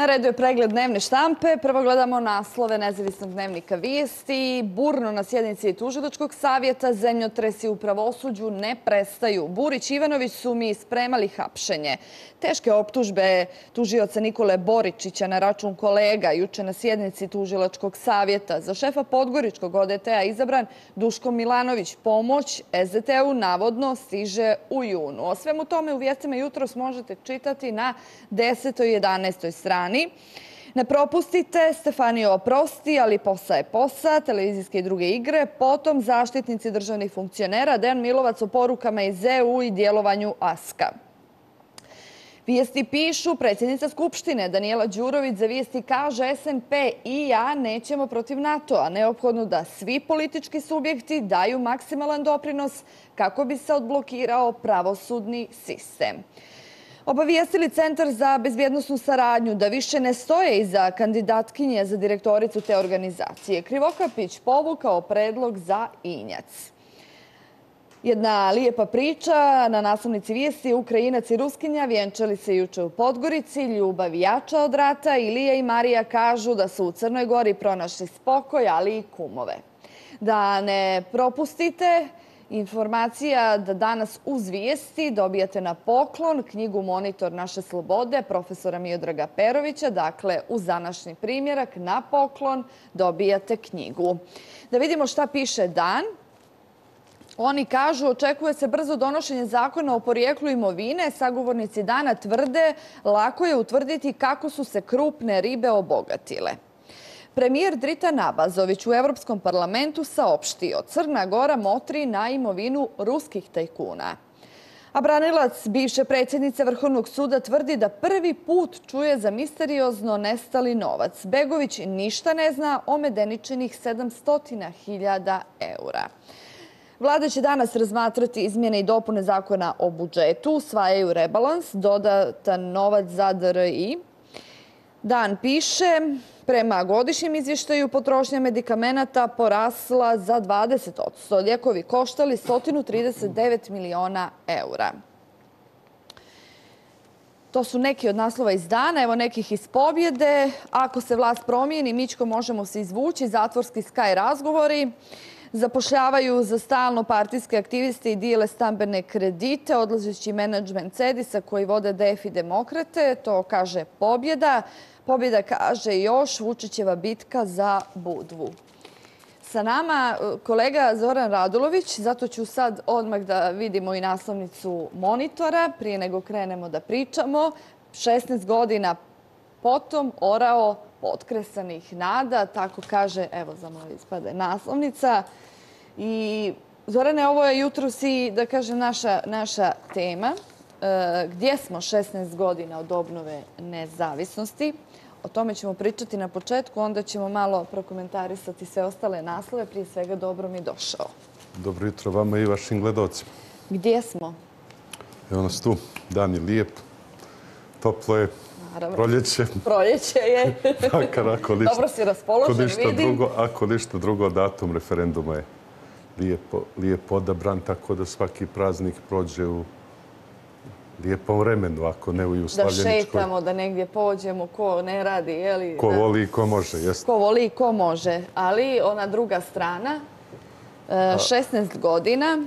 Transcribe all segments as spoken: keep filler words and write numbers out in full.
redu je pregled dnevne štampe. Prvo gledamo naslove Nezavisnog dnevnika Vijesti. Burno na sjednici Tužilačkog savjeta, zemljotresi u pravosuđu ne prestaju. Burić i Ivanović su mi spremali hapšenje. Teške optužbe tužioca Nikole Boričića na račun kolega juče na sjednici Tužilačkog savjeta. Za šefa Podgoričkog O D T-a izabran Duško Milanović. Pomoć S D T-u navodno stiže u junu. O svemu tome u vijestima jutros možete čitati na desetoj i jedanaestoj strani. Ne propustite, Stefanio oprosti, ali posa je posa, televizijske i druge igre. Potom zaštitnici državnih funkcionera, Dejan Milovac o porukama iz E U i djelovanju Aska. Vijesti pišu, predsjednica Skupštine Danijela Đurović za Vijesti kaže S N P i ja nećemo protiv NATO-a. Neophodno da svi politički subjekti daju maksimalan doprinos kako bi se odblokirao pravosudni sistem. Obavijestili Centar za bezbjednosnu saradnju da više ne stoje iza kandidatkinje za direktoricu te organizacije. Krivokapić povukao predlog za Injac. Jedna lijepa priča na naslovnici Vijesti. Ukrajinac i Ruskinja vjenčali se juče u Podgorici. Ljubav jača od rata. Ilija i Marija kažu da su u Crnoj Gori pronašli spokoj, ali i kumove. Da ne propustite informacija da danas uz Vijesti dobijate na poklon knjigu Monitor naše slobode profesora Miodraga Perovića. Dakle, uz današnji primjerak na poklon dobijate knjigu. Da vidimo šta piše Dan. Oni kažu, očekuje se brzo donošenje zakona o porijeklu imovine. Sagovornici Dana tvrde, lako je utvrditi kako su se krupne ribe obogatile. Premijer Dritan Abazović u Evropskom parlamentu saopštio, Crna Gora motri na imovinu ruskih tajkuna. A branilac bivše predsjednice Vrhovnog suda tvrdi da prvi put čuje za misteriozno nestali novac. Begović ništa ne zna o Medeničinih sedamsto hiljada eura. Vlada će danas razmatrati izmjene i dopune zakona o budžetu, usvajaju rebalans, dodatan novac za D R I. Dan piše, prema godišnjem izvještaju potrošnja medikamenata porasla za dvadeset posto. Lijekovi koštali sto trideset devet miliona eura. To su neki od naslova iz Dana, evo nekih iz Pobjede. Ako se vlast promijeni, Mićko, možemo se izvući, zatvorski Sky razgovori. Zapošljavaju za stalno partijske aktiviste i dijele stambene kredite, odlazeći menadžment Cedisa koji vode D F i demokrate, to kaže Pobjeda. Pobjeda kaže još Vučićeva bitka za Budvu. Sa nama kolega Zoran Radulović, zato ću sad odmah da vidimo i naslovnicu Monitora, prije nego krenemo da pričamo. šesnaest godina potom orao potkresanih nada, tako kaže, evo za moje ispade, naslovnica. I Zorane, ovo je jutros i, da kažem, naša, naša tema. E, gdje smo šesnaest godina od obnove nezavisnosti? O tome ćemo pričati na početku, onda ćemo malo prokomentarisati sve ostale naslove. Prije svega, dobro mi došao. Dobro jutro vama i vašim gledalcima. Gdje smo? Evo nas tu, dan je lijep, toplo je, proljeće. Proljeće je. Dobro si raspoložen, vidim. Ako ništa drugo, datum referenduma je lijepo odabran, tako da svaki praznik prođe u lijepom vremenu, ako ne u slavljeničkoj. Da šetamo, da negdje pođemo, ko ne radi, je li? Ko voli i ko može, jeste. Ko voli i ko može, ali ona druga strana, šesnaest godina.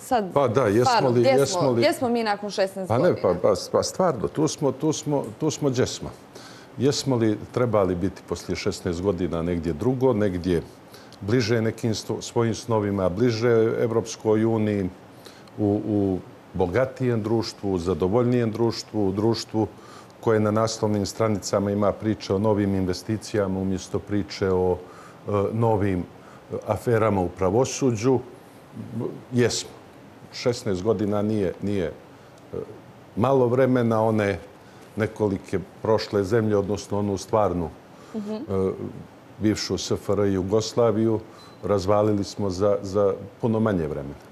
Sad, pa da, jesmo li... Gdje smo, gdje smo mi nakon šesnaest pa godina? Ne, pa, pa, pa stvarno, tu smo, tu smo, tu smo gdje smo. Jesmo li trebali biti poslije šesnaest godina negdje drugo, negdje bliže nekim svojim snovima, bliže Evropskoj uniji, u, u bogatijem društvu, zadovoljnijem društvu, u društvu koje na naslovnim stranicama ima priče o novim investicijama umjesto priče o e, novim aferama u pravosuđu. Jesmo. šesnaest godina nije, nije malo vremena, one nekolike prošle zemlje, odnosno onu stvarnu uh-huh. bivšu S F R i Jugoslaviju, razvalili smo za, za puno manje vremena.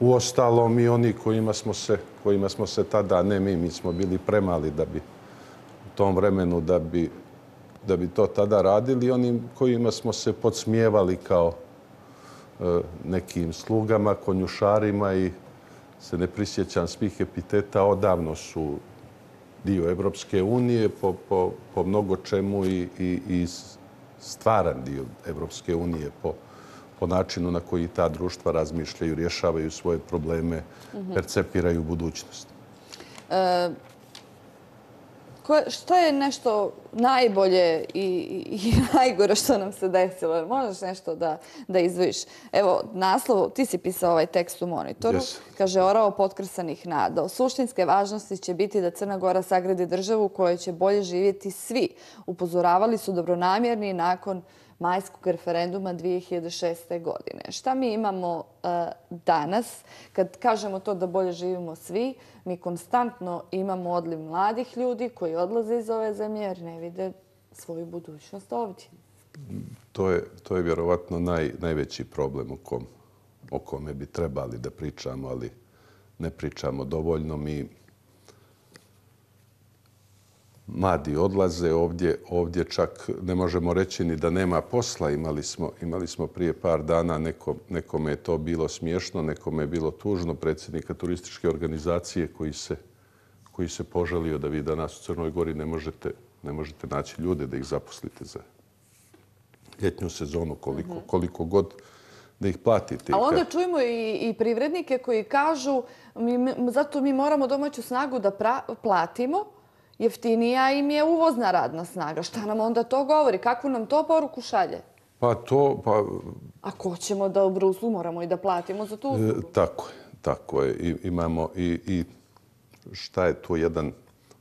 Uostalom i oni kojima smo se, kojima smo se tada, ne mi, mi smo bili premali da bi u tom vremenu da bi, da bi to tada radili, oni kojima smo se podsmijevali kao nekim slugama, konjušarima i se ne prisjećam svih epiteta, odavno su dio Evropske unije po, po, po mnogo čemu i, i, i stvaran dio Evropske unije po, po načinu na koji ta društva razmišljaju, rješavaju svoje probleme, percepiraju budućnost. E, Što je nešto najbolje i, i najgore što nam se desilo? Možeš nešto da, da izdvojiš? Evo, naslov, ti si pisao ovaj tekst u Monitoru. Yes. Kaže, orao potkrsanih nada. O suštinske važnosti će biti da Crna Gora sagradi državu u kojoj će bolje živjeti svi. Upozoravali su dobronamjerni nakon majskog referenduma dvije hiljade šeste. godine. Šta mi imamo uh, danas? Kad kažemo to da bolje živimo svi, mi konstantno imamo odliv mladih ljudi koji odlaze iz ove zemlje jer ne vide svoju budućnost ovdje. To je, to je vjerovatno naj, najveći problem o, kom, o kome bi trebali da pričamo, ali ne pričamo dovoljno. Mi mladi odlaze ovdje, ovdje čak ne možemo reći ni da nema posla. Imali smo, imali smo prije par dana, neko, nekome je to bilo smiješno, nekome je bilo tužno, predsjednika turističke organizacije koji se, koji se požalio da vi danas u Crnoj Gori ne možete, ne možete naći ljude da ih zaposlite za ljetnju sezonu, koliko, mm-hmm. koliko god da ih platite. Ali onda čujemo i, i privrednike koji kažu mi, zato mi moramo domaću snagu da pra, platimo, jeftinija im je uvozna radna snaga. Šta nam onda to govori? Kakvu nam to poruku šalje? Pa to... Pa, ako ćemo da u Bruslu moramo i da platimo za tu uslugu. E, tako je. Tako je. I, imamo i, i šta je tu jedan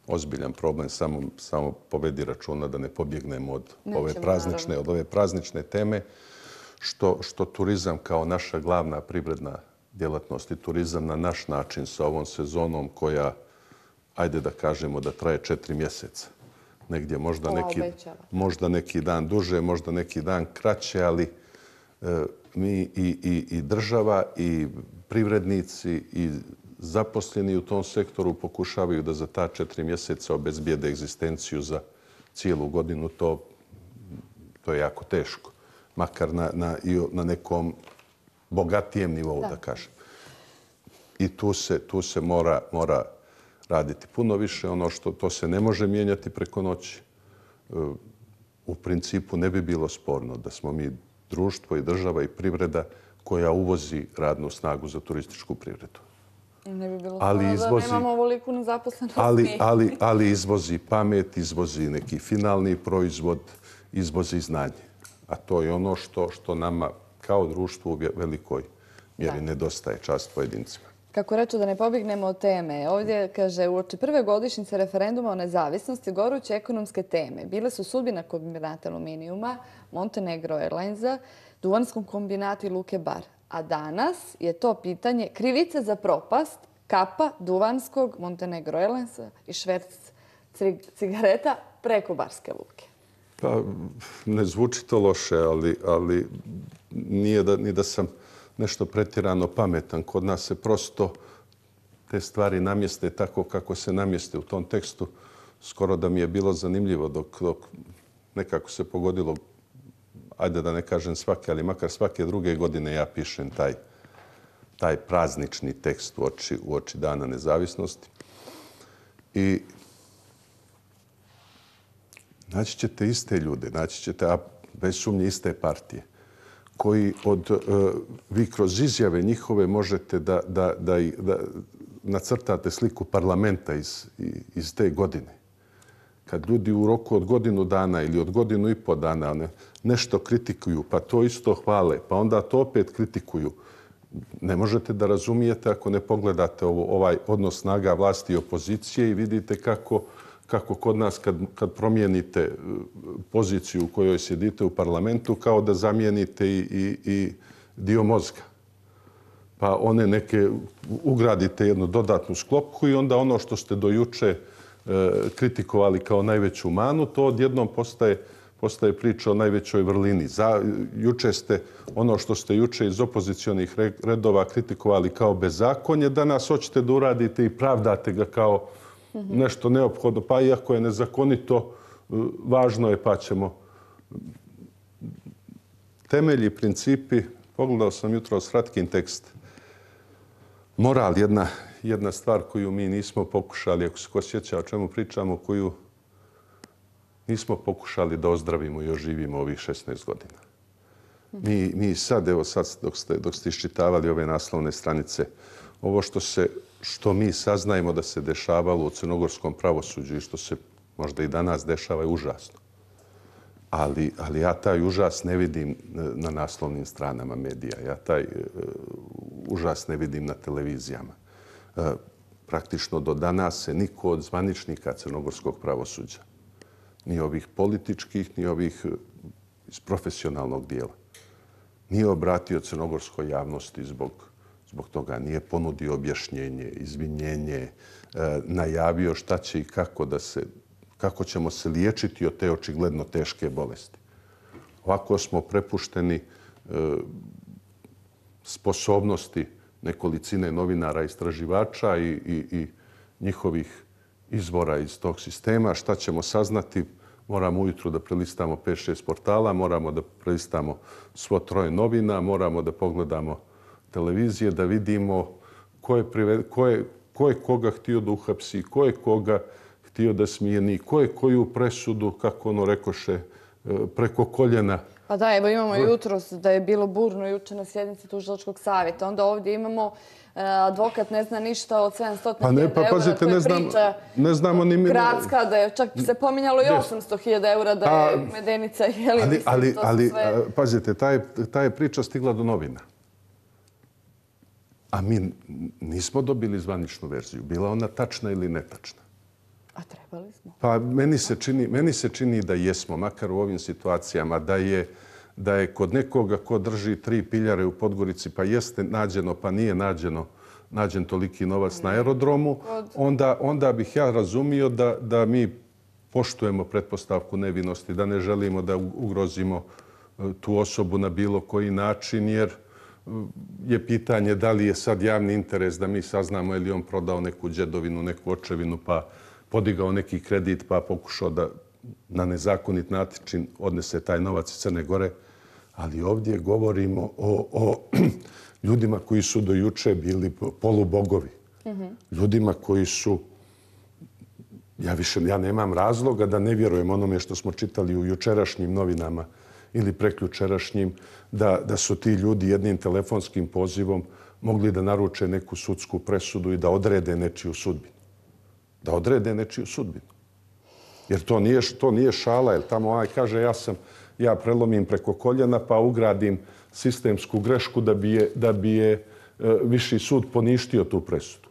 ozbiljan problem, samo, samo povedi računa da ne pobjegnemo od Nećemo, ove praznične, od ove praznične teme, što, što turizam kao naša glavna privredna djelatnost i turizam na naš način sa ovom sezonom koja, ajde da kažemo, da traje četiri mjeseca. Negdje možda neki, možda neki dan duže, možda neki dan kraće, ali e, mi i, i, i država i privrednici i zaposleni u tom sektoru pokušavaju da za ta četiri mjeseca obezbijede egzistenciju za cijelu godinu. To, to je jako teško. Makar na, na, na nekom bogatijem nivou, da, da kažem. I tu se, tu se mora, mora raditi puno više. Ono što to se ne može mijenjati preko noći. U principu ne bi bilo sporno da smo mi društvo i država i privreda koja uvozi radnu snagu za turističku privredu. Ne bi bilo ali izvozi, da nemamo ovoliku nezaposlenost. Ali, ali, ali izvozi pamet, izvozi neki finalni proizvod, izvozi znanje. A to je ono što, što nama kao društvu u velikoj mjeri da. nedostaje, čast pojedincima. Kako reću da ne pobjegnemo od teme, ovdje kaže uoči prve godišnjice referenduma o nezavisnosti goruće ekonomske teme bile su sudbina kombinata aluminijuma, Montenegro Airlinesa, Duvanskom kombinatu i Luke Bar. A danas je to pitanje krivice za propast Kapa, Duvanskog, Montenegro Airlinesa i šverc cigareta preko Barske luke. Pa, ne zvuči to loše, ali, ali nije da, ni da sam nešto pretjerano pametan. Kod nas se prosto te stvari namjeste tako kako se namjeste u tom tekstu. Skoro da mi je bilo zanimljivo dok, dok nekako se pogodilo, ajde da ne kažem svake, ali makar svake druge godine ja pišem taj, taj praznični tekst u oči, u oči Dana nezavisnosti. I naći ćete iste ljude, naći ćete, a bez sumnje iste partije, koji od, uh, vi kroz izjave njihove možete da, da, da, da nacrtate sliku parlamenta iz, iz te godine. Kad ljudi u roku od godinu dana ili od godinu i po dana ne, nešto kritikuju, pa to isto hvale, pa onda to opet kritikuju, ne možete da razumijete ako ne pogledate ovo, ovaj odnos snaga vlasti i opozicije i vidite kako, kako kod nas kad, kad promijenite poziciju u kojoj sjedite u parlamentu, kao da zamijenite i, i, i dio mozga. Pa one neke, ugradite jednu dodatnu sklopku i onda ono što ste do juče kritikovali kao najveću manu, to odjednom postaje, postaje priča o najvećoj vrlini. Za, juče ste, ono što ste juče iz opozicionih redova kritikovali kao bezakonje, danas hoćete da uradite i pravdate ga kao nešto neophodno. Pa iako je nezakonito, važno je pa ćemo. Temelji, principi, pogledao sam jutro Sratkin tekst. Moral, jedna, jedna stvar koju mi nismo pokušali, ako se ko sjeća o čemu pričamo, koju nismo pokušali da ozdravimo i oživimo ovih šesnaest godina. Mi, mi sad, evo sad dok ste, dok ste iščitavali ove naslovne stranice, ovo što, se, što mi saznajemo da se dešavalo u crnogorskom pravosuđu i što se možda i danas dešava je užasno. Ali, ali ja taj užas ne vidim na naslovnim stranama medija. Ja taj uh, užas ne vidim na televizijama. Uh, praktično do danas se niko od zvaničnika crnogorskog pravosuđa, ni ovih političkih, ni ovih iz profesionalnog dijela, nije obratio crnogorskoj javnosti zbog, zbog toga. Nije ponudio objašnjenje, izvinjenje, uh, najavio šta će i kako da se kako ćemo se liječiti od te očigledno teške bolesti. Ovako smo prepušteni e, sposobnosti nekolicine novinara, istraživača i, i, i njihovih izvora iz tog sistema. Šta ćemo saznati? Moramo ujutru da prelistamo pet šest portala, moramo da prelistamo svo troje novina, moramo da pogledamo televizije, da vidimo ko je, prive, ko je, ko je koga htio da uhapsi, ko je koga htio da smijeni, ko je koju presudu, kako ono rekoše, preko koljena. Pa da, evo imamo jutros da je bilo burno juče na sjednici tužilačkog savjeta. Onda ovdje imamo advokat ne zna ništa od sedamsto hiljada eura. Pa pazite, ne, znam, ne znamo ni mi... Gradska, da je čak se pominjalo i osamsto hiljada eura da je Medenica. Jeli, ali, mislim, ali, to ali sve... pazite, ta je, ta je priča stigla do novina. A mi nismo dobili zvaničnu verziju. Bila ona tačna ili netačna. A trebali smo? Pa meni se čini, meni se čini da jesmo, makar u ovim situacijama, da je, da je kod nekoga ko drži tri piljare u Podgorici, pa jeste nađeno, pa nije nađeno, nađen toliki novac na aerodromu, onda, onda bih ja razumio da, da mi poštujemo pretpostavku nevinosti, da ne želimo da ugrozimo tu osobu na bilo koji način, jer je pitanje da li je sad javni interes da mi saznamo je li on prodao neku džedovinu, neku očevinu, pa podigao neki kredit pa pokušao da na nezakonit način odnese taj novac iz Crne Gore. Ali ovdje govorimo o, o ljudima koji su do juče bili polubogovi. Mm-hmm. Ljudima koji su... Ja više ja nemam razloga da ne vjerujem onome što smo čitali u jučerašnjim novinama ili prekjučerašnjim, da, da su ti ljudi jednim telefonskim pozivom mogli da naruče neku sudsku presudu i da odrede nečiju sudbinu. Da odrede nečiju sudbinu. Jer to nije, to nije šala, jer tamo ovaj kaže ja sam, ja prelomim preko koljena pa ugradim sistemsku grešku da bi je, da bi je e, viši sud poništio tu presudu.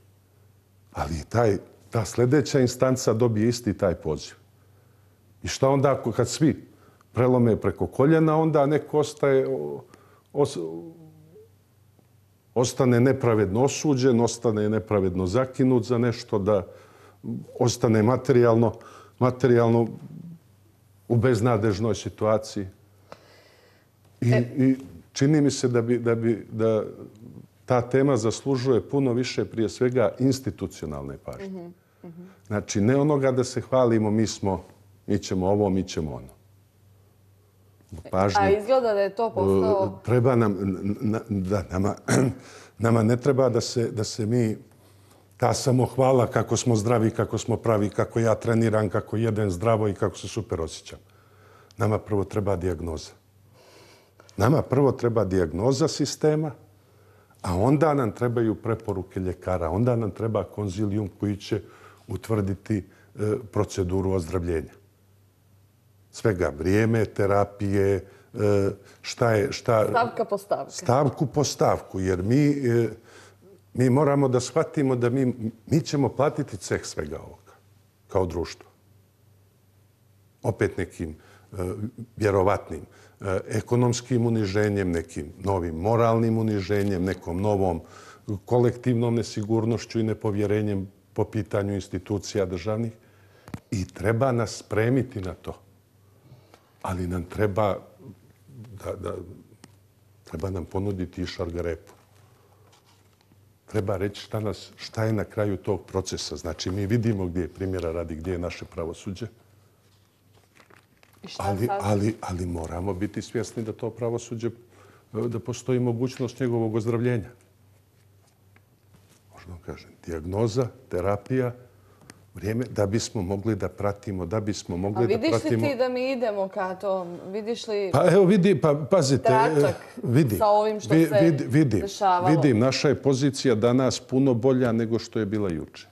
Ali taj, ta sljedeća instanca dobije isti taj poziv. I šta onda kad svi prelome preko koljena, onda neko ostaje, os, ostane nepravedno osuđen, ostane nepravedno zakinut za nešto, da ostane materijalno, materijalno u beznadežnoj situaciji. I, e... i čini mi se da, bi, da, bi, da ta tema zaslužuje puno više, prije svega, institucionalne pažnje. Mm-hmm. Mm-hmm. Znači, ne onoga da se hvalimo, mi smo, mi ćemo ovo, mi ćemo ono. Pažnju, a izgleda da je to postao... Treba nam, da, nama, nama ne treba da se, da se mi ta samohvala kako smo zdravi, kako smo pravi, kako ja treniram, kako jedem zdravo i kako se super osjećam. Nama prvo treba dijagnoza. Nama prvo treba dijagnoza sistema, a onda nam trebaju preporuke ljekara. Onda nam treba konzilijum koji će utvrditi e, proceduru ozdravljenja. Svega vrijeme, terapije, e, šta je... Šta, stavka po stavku. Stavku po stavku, jer mi... E, Mi moramo da shvatimo da mi, mi ćemo platiti ceh svega ovoga kao društvo. Opet nekim e, vjerovatnim e, ekonomskim uniženjem, nekim novim moralnim uniženjem, nekom novom kolektivnom nesigurnošću i nepovjerenjem po pitanju institucija državnih. I treba nas spremiti na to. Ali nam treba, da, da, treba nam ponuditi i šargarepu. Treba reći šta, nas, šta je na kraju tog procesa. Znači, mi vidimo gdje je primjera radi, gdje je naše pravosuđe. Ali, ali, ali moramo biti svjesni da to pravosuđe, da postoji mogućnost njegovog ozdravljenja. možemo kažem, dijagnoza, terapija, vrijeme da bismo mogli da pratimo, da bismo mogli da pratimo... A vidiš li ti da mi idemo ka tom? Vidiš li Pa evo vidi, pa pazite, tračak vidi, sa ovim što se vidi, vidi, dešavalo? vidim, naša je pozicija danas puno bolja nego što je bila juče.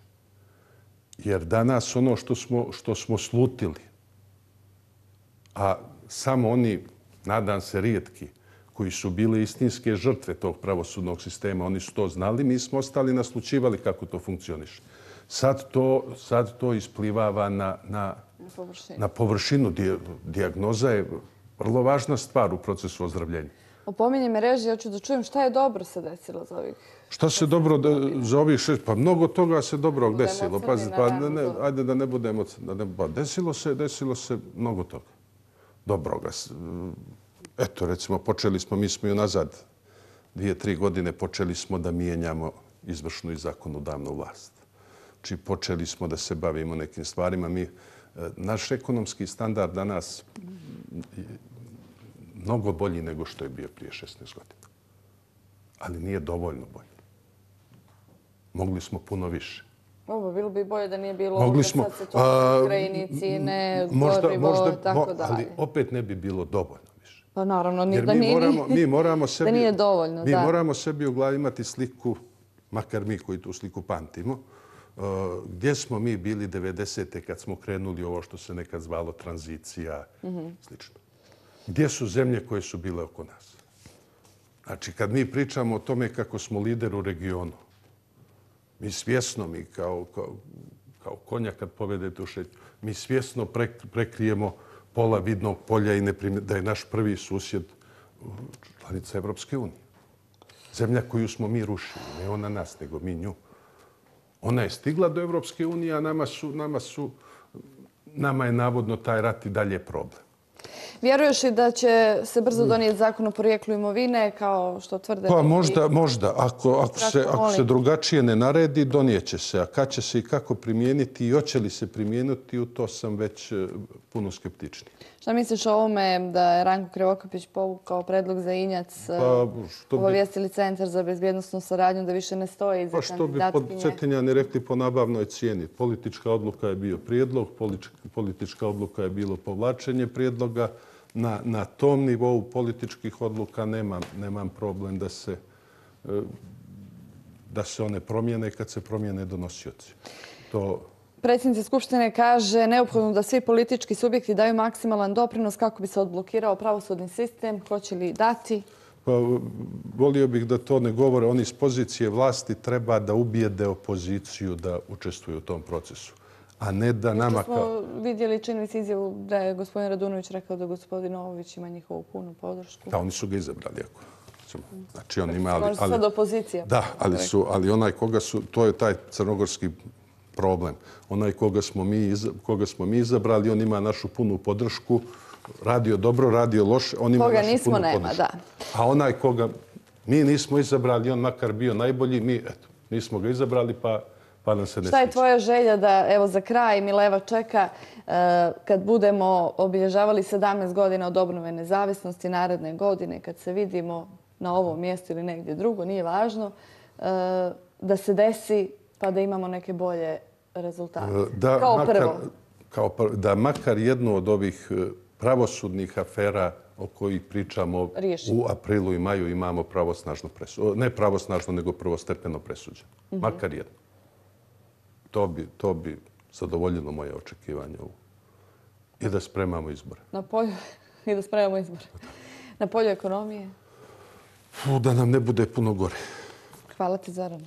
Jer danas ono što smo, što smo slutili, a samo oni, nadam se, rijetki, koji su bili istinske žrtve tog pravosudnog sistema, oni su to znali, mi smo ostali naslučivali kako to funkcioniše. Sad to, sad to isplivava na, na, površinu. na površinu. Dijagnoza je vrlo važna stvar u procesu ozdravljenja. Opominje me režija, ja ću da čujem šta je dobro se desilo za ovih... Šta se dobro da, za ovih šest? Pa mnogo toga se dobrog desilo. Pazi, pa, ne, ne, ajde da ne budemo... Da ne, pa desilo se, desilo se mnogo toga dobroga. Eto, recimo, počeli smo, mi smo i nazad dvije, tri godine počeli smo da mijenjamo izvršnu i zakonodavnu vlast. Znači, počeli smo da se bavimo nekim stvarima. Mi, naš ekonomski standard danas je mnogo bolji nego što je bio prije šesnaest godina. Ali nije dovoljno bolji. Mogli smo puno više. Ovo, bilo bi bolje da nije bilo Mogli ovdje smo, sad se to Ukrajini, cijene, gorivo, tako dalje. Ali opet ne bi bilo dovoljno više. Pa naravno, ni, Jer da, mi nije, moramo, mi moramo sebi, da nije dovoljno. Mi da. moramo sebi u glavi imati sliku, makar mi koji tu sliku pamtimo, uh, gdje smo mi bili devedesete kad smo krenuli ovo što se nekad zvalo tranzicija, mm-hmm. slično. Gdje su zemlje koje su bile oko nas? Znači, kad mi pričamo o tome kako smo lider u regionu, mi svjesno, mi kao, kao, kao konja kad povedete u šetnju, mi svjesno prekrijemo pola vidnog polja i ne primje, da je naš prvi susjed članica Evropske unije. Zemlja koju smo mi rušili, ne ona nas, nego mi nju. Ona je stigla do Evropske unije, a nama, su, nama, su, nama je navodno taj rat i dalje problem. Vjeruješ li da će se brzo donijeti zakon o porijeklu imovine, kao što tvrde? Pa možda, možda. Ako, ako, se, ako se drugačije ne naredi, donijeće se. A kad će se i kako primijeniti i hoće li se primijeniti, u to sam već puno skeptičniji. Šta misliš o ovome da je Ranko Krivokapić povukao predlog za Injac, pa, bi... obavijestili Centar za bezbjednosnu saradnju da više ne stoji za pa kandidatkinje? Pa što bi pod Cetinjani rekli po nabavnoj cijeni. Politička odluka je bio prijedlog, politička odluka je bilo povlačenje prijedloga. Na, na tom nivou političkih odluka nemam, nemam problem da se, da se one promijene kad se promijene donosioci. To... Predsjednica Skupštine kaže neophodno da svi politički subjekti daju maksimalan doprinos kako bi se odblokirao pravosudni sistem. Hoće li dati? Pa, volio bih da to ne govore. Oni iz pozicije vlasti treba da ubijede opoziciju da učestvuju u tom procesu. A ne da nama kao... smo vidjeli, čini mi se izjavu da je gospodin Radunović rekao da gospodin Novović ima njihovu punu podršku. Da, oni su ga izabrali. Ako. Znači, on ima... Ali, ali, sad opozicija. Da, ali, su, ali onaj koga su... To je taj crnogorski problem. Onaj koga smo, mi, koga smo mi izabrali, on ima našu punu podršku. Radio dobro, radio loše, on ima koga našu nismo, punu nema, podršku. Da. A onaj koga mi nismo izabrali, on makar bio najbolji, mi eto, nismo ga izabrali, pa... Pa nam se ne Šta je sviđa. tvoja želja da, evo za kraj, Mileva čeka, kad budemo obilježavali sedamnaest godina od obnove nezavisnosti naredne godine, kad se vidimo na ovom mjestu ili negdje drugo, nije važno, da se desi pa da imamo neke bolje rezultate? Da, kao makar, prvo. Kao prvo. Da makar jednu od ovih pravosudnih afera o kojih pričamo Riješimo. U aprilu i maju imamo pravosnažno presuđeno. Ne pravosnažno, nego prvostepeno presuđeno. Mm-hmm. Makar jedno. To bi, to bi zadovoljilo moje očekivanje i da spremamo izbore. Na polju, i da spremamo izbore. Na polju ekonomije? Da nam ne bude puno gore. Hvala ti, Zorane.